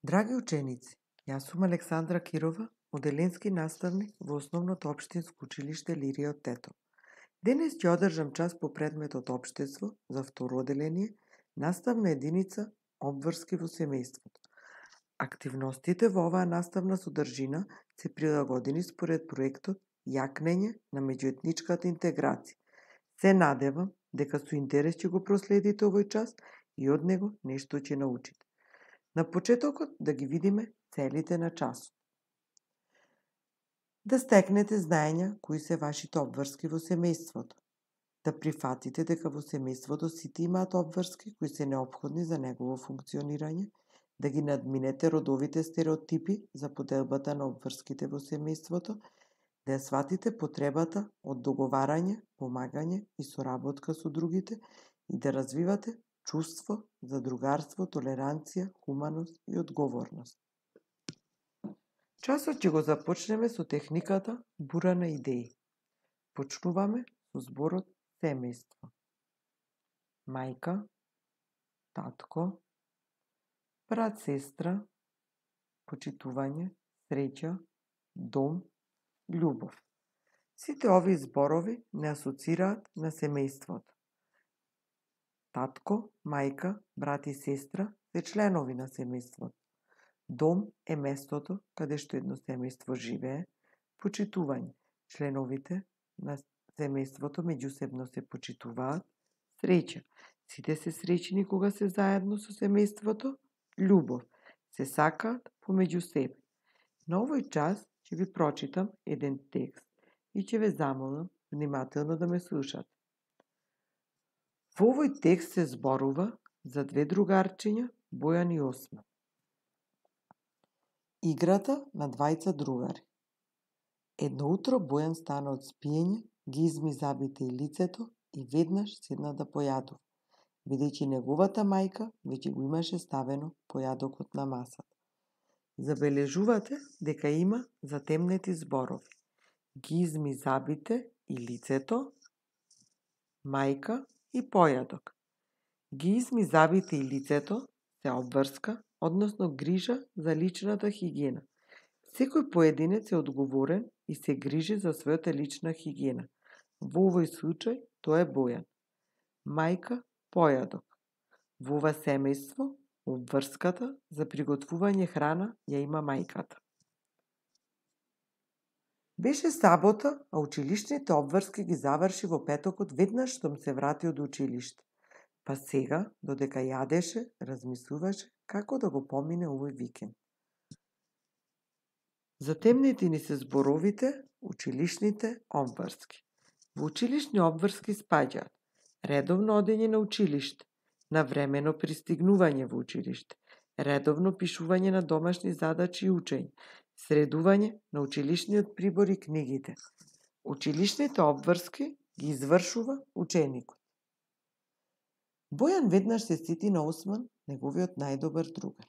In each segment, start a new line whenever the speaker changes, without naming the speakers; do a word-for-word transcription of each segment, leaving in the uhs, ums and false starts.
Драги ученици, јас сум Александра Кирова, оделенски наставник во Основното општинско училиште Лирија од Тетово. Денес ќе одржам час по предметот Општество за второ оделение, наставна единица Обврски во семејството. Активностите во оваа наставна содржина се прилагодени според проектот Јакнење на меѓуетничката интеграција. Се надевам дека со интерес ќе го проследите овој час и од него нешто ќе научите. На почетокот да ги видиме целите на часот. Да стекнете знаења кои се вашите обврски во семејството. Да прифатите дека во семејството сите имаат обврски кои се неопходни за негово функционирање, да ги надминете родовите стереотипи за поделбата на обврските во семејството, да ја сватите потребата од договарање, помагање и соработка со другите и да развивате чувство за другарство, толеранција, хуманост и одговорност. Часот ќе го започнеме со техниката бура на идеи. Почнуваме со зборот семејство. Мајка, татко, брат, сестра, почитување, среќа, дом, љубов. Сите овие зборови не асоцираат на семејството. Татко, мајка, брат и сестра се членови на семејството. Дом е местото каде што едно семејство живее. Почитување. Членовите на семејството меѓусебно се почитуваат. Среќа. Сите се среќни кога се заедно со семејството. Љубов. Се сакаат помеѓу себе. На овој час ќе ви прочитам еден текст и ќе ве замолам внимателно да ме слушате. Во овој текст се зборува за две другарчиња, Бојан и Осман. Играта на двајца другари. Едно утро Бојан стана од спиење, ги изми забите и лицето и веднаш седна да појадува, бидејќи неговата мајка веќе го имаше ставено појадокот на масата. Забележувате дека има затемнети зборови. Ги изми забите и лицето, мајка и појадок. Ги изми забите и лицето се обврска, односно грижа за личната хигиена. Секој поединец е одговорен и се грижи за својата лична хигиена. Во овој случај тоа е Бојан. Мајка, појадок. Во ова семејство, обврската за приготвување храна ја има мајката. Беше сабота, а училишните обврски ги заврши во петокот веднаш штом се врати од училиште. Па сега, додека јадеше, размислуваше како да го помине овој викенд. Затемнети ни се зборовите училишните обврски. Во училишни обврски спаѓаат редовно одење на училиште, навремено пристигнување во училиште, редовно пишување на домашни задачи и учење, средување на училишниот прибор и книгите. Училишните обврски ги извршува ученикот. Бојан веднаш се сети на Осман, неговиот најдобар другар.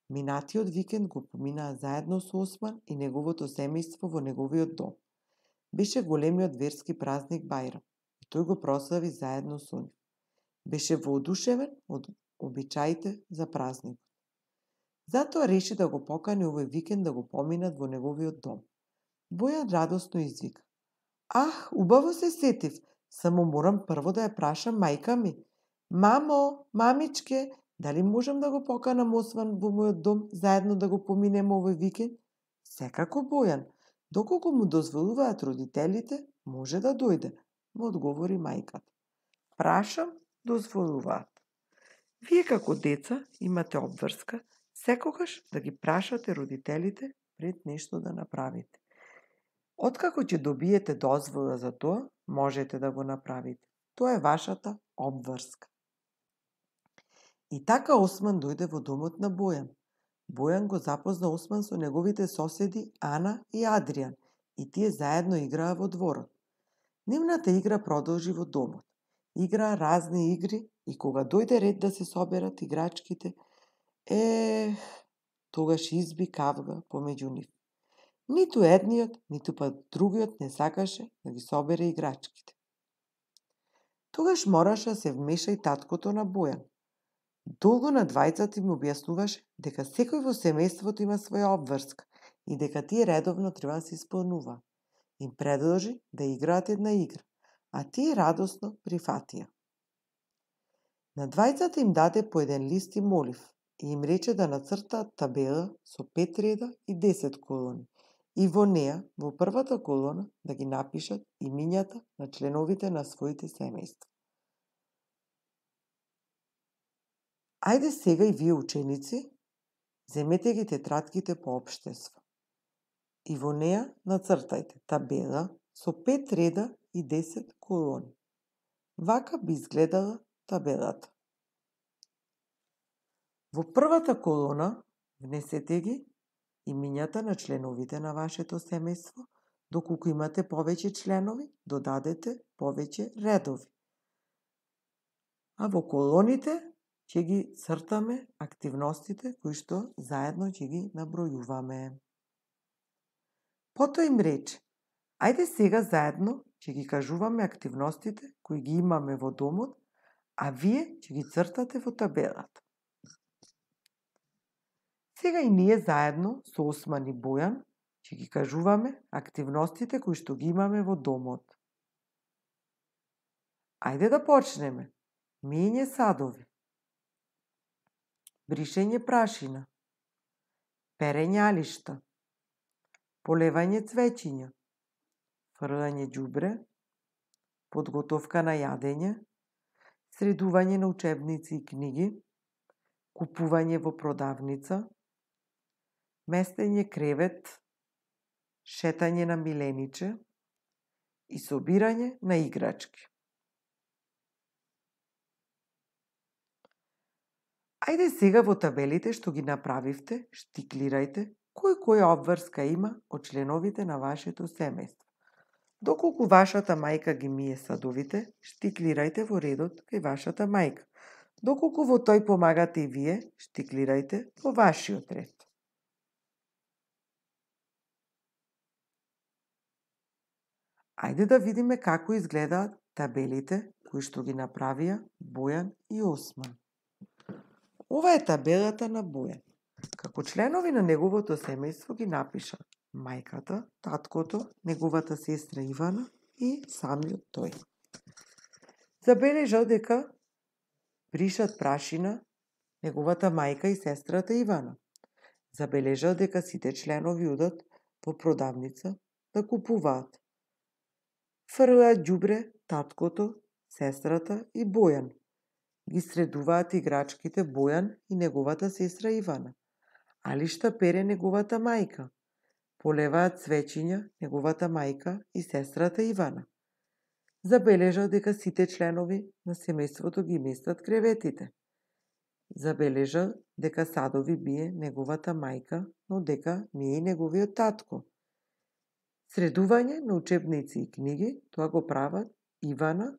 Минатиот викенд го поминаа заедно со Осман и неговото семејство во неговиот дом. Беше големиот верски празник Бајрам и тој го прослави заедно со нив. Беше воодушевен од обичаите за празникот. Затоа реши да го покани овој викенд да го поминат во неговиот дом. Бојан радосно извика: "Ах, убаво се сетив, само морам прво да ја прашам мајка ми. Мамо, мамичке, дали можам да го поканам Осман во мојот дом заедно да го поминеме овој викенд?" "Секако, Бојан, доколку му дозволуваат родителите, може да дојде," му одговори мајката. "Прашам, дозволуваат. Вие како деца имате обврска секогаш да ги прашате родителите пред нешто да направите. Откако ќе добиете дозвола за тоа, можете да го направите. Тоа е вашата обврска." И така Осман дојде во домот на Бојан. Бојан го запозна Осман со неговите соседи Ана и Адријан и тие заедно играа во дворот. Нивната игра продолжи во домот. Играа разни игри и кога дојде ред да се соберат играчките, ех, тогаш изби кавга помеѓу нив. Ниту едниот, ниту па другиот не сакаше да ги собере играчките. Тогаш мораше да се вмеша и таткото на Бојан. Долго на двајцата им објаснуваше дека секој во семејството има своја обврска и дека тие редовно треба да се исполнува. Им предложи да играат една игра, а тие радосно прифатија. На двајцата им даде по еден лист и молив и им рече да нацртаат табела со пет реда и десет колони и во неа, во првата колона, да ги напишат имињата на членовите на своите семејства. Ајде сега и вие ученици, земете ги тетратките по општество и во неа нацртајте табела со пет реда и десет колони. Вака би изгледала табелата. Во првата колона внесете ги имињата на членовите на вашето семејство, доколку имате повеќе членови, додадете повеќе редови. А во колоните ќе ги цртаме активностите кои што заедно ќе ги набројуваме. Потоа им рече, ајде сега заедно ќе ги кажуваме активностите кои ги имаме во домот, а вие ќе ги цртате во табелата. Сега и ние заедно со Осман и Бојан ќе ги кажуваме активностите кои што ги имаме во домот. Ајде да почнеме. Мење садови, бришење прашина, перење алишта, полевање цвеќиња, фрлање ѓубре, подготовка на јадење, средување на учебници и книги, купување во продавница, местење кревет, шетање на милениче и собирање на играчки. Ајде сега во табелите што ги направивте, штиклирајте кој која обврска има од членовите на вашето семејство. Доколку вашата мајка ги мие садовите, штиклирајте во редот кај вашата мајка. Доколку во тој помагате и вие, штиклирајте во вашиот ред. Ајде да видиме како изгледаат табелите кои што ги направија Бојан и Осман. Ова е табелата на Бојан. Како членови на неговото семејство ги напиша мајката, таткото, неговата сестра Ивана и самиот тој. Забележал дека бришат прашина неговата мајка и сестрата Ивана. Забележал дека сите членови одат во продавница да купуваат. Фрлаат ѓубре таткото, сестрата и Бојан. Ги средуваат играчките Бојан и неговата сестра Ивана. Алишта пере неговата мајка. Полеваат цвеќиња неговата мајка и сестрата Ивана. Забележал дека сите членови на семејството ги местат креветите. Забележал дека садови бие неговата мајка, но дека не е неговиот татко. Средување на учебници и книги, тоа го прават Ивана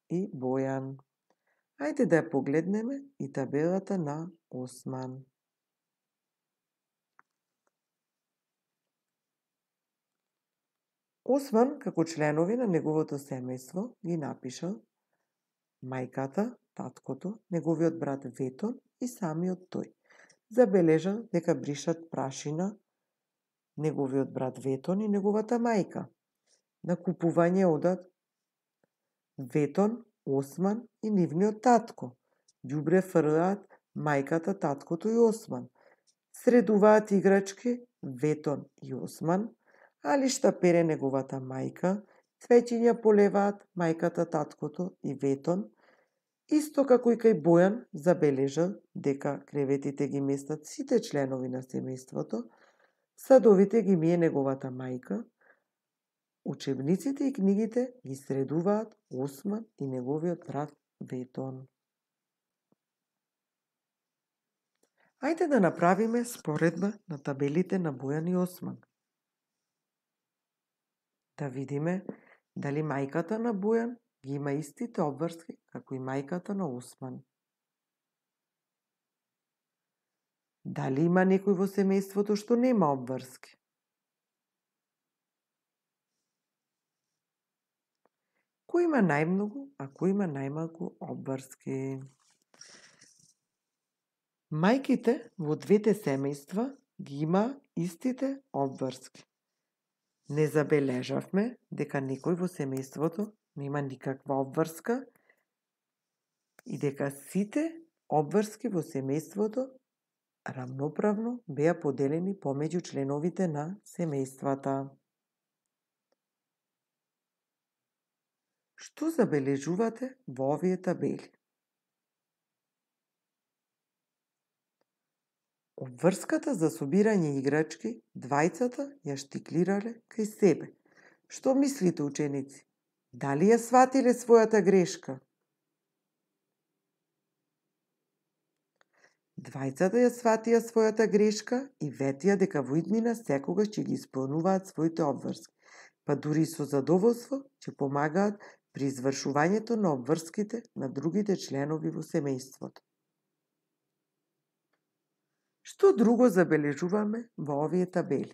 и Бојан. Ајде да ја погледнеме и табелата на Осман. Осман, како членови на неговото семејство, ги напишал мајката, таткото, неговиот брат Ветон и самиот тој. Забележал дека бришат прашина неговиот брат Ветон и неговата мајка. На купување одат Ветон, Осман и нивниот татко. Ѓубре фрлаат мајката, таткото и Осман. Средуваат играчки Ветон и Осман. Алишта пере неговата мајка. Цвеќиња полеваат мајката, таткото и Ветон. Исто како и кај Бојан забележал дека креветите ги местат сите членови на семејството. Садовите ги мие неговата мајка. Учебниците и книгите ги средуваат Осман и неговиот брат Ветон. Ајде да направиме споредба на табелите на Бојан и Осман. Да видиме дали мајката на Бојан ги има истите обврски како и мајката на Осман. Дали има некој во семејството што нема обврски? Кој има најмногу, а кој има најмалку обврски? Мајките во двете семејства ги има истите обврски. Не забележавме дека некој во семејството нема никаква обврска и дека сите обврски во семејството рамноправно беа поделени помеѓу членовите на семејствата. Што забележувате во овие табели? Обврската за собирање играчки, двајцата ја штиклирале кај себе. Што мислите, ученици? Дали ја сватиле својата грешка? Двајцата ја сватија својата грешка и ветија дека во иднина секогаш ќе ги исполнуваат своите обврски, па дури со задоволство ќе помагаат при извршувањето на обврските на другите членови во семејството. Што друго забележуваме во овие табели?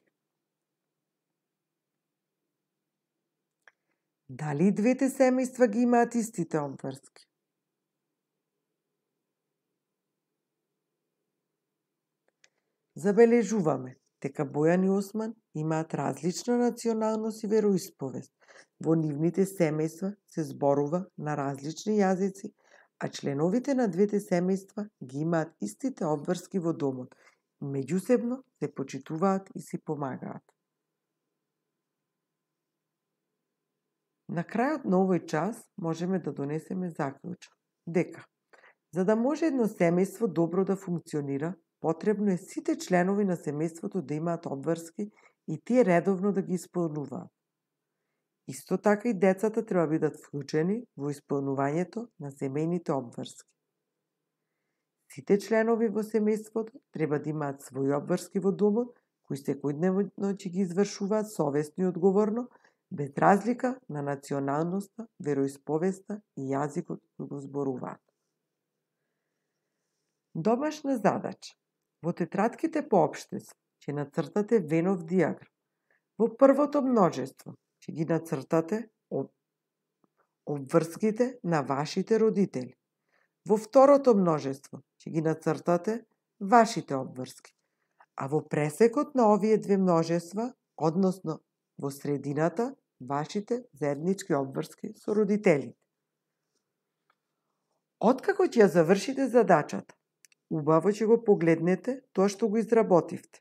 Дали двете семејства ги имаат истите обврски? Забележуваме дека Бојан и Осман имаат различна националност и вероисповест. Во нивните семејства се зборува на различни јазици, а членовите на двете семејства ги имаат истите обврски во домот. Меѓусебно се почитуваат и си помагаат. На крајот на овој час можеме да донесеме заклучок дека за да може едно семејство добро да функционира, потребно е сите членови на семејството да имаат обврски и тие редовно да ги исполнуваат. Исто така и децата треба бидат вклучени во исполнувањето на семејните обврски. Сите членови во семејството треба да имаат своји обврски во домот, кои секојдневно ќе ги извршуваат совесно и одговорно, без разлика на националноста, вероисповеста и јазикот кој го зборуваат. Домашна задача. Во тетратките по општество ќе нацртате Венов дијаграм. Во првото множество ќе ги нацртате обврските на вашите родители. Во второто множество ќе ги нацртате вашите обврски. А во пресекот на овие две множества, односно во средината, вашите заеднички обврски со родителите. Откако ќе ја завршите задачата, убаво ќе го погледнете тоа што го изработивте.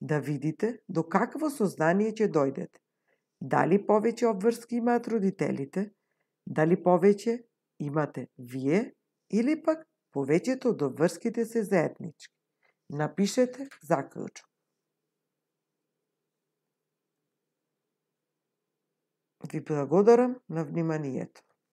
Да видите до какво сознание ќе дојдете. Дали повеќе обврски имаат родителите, дали повеќе имате вие, или пак повеќето од обврските се заеднички. Напишете заклучок. Ви благодарам на вниманието.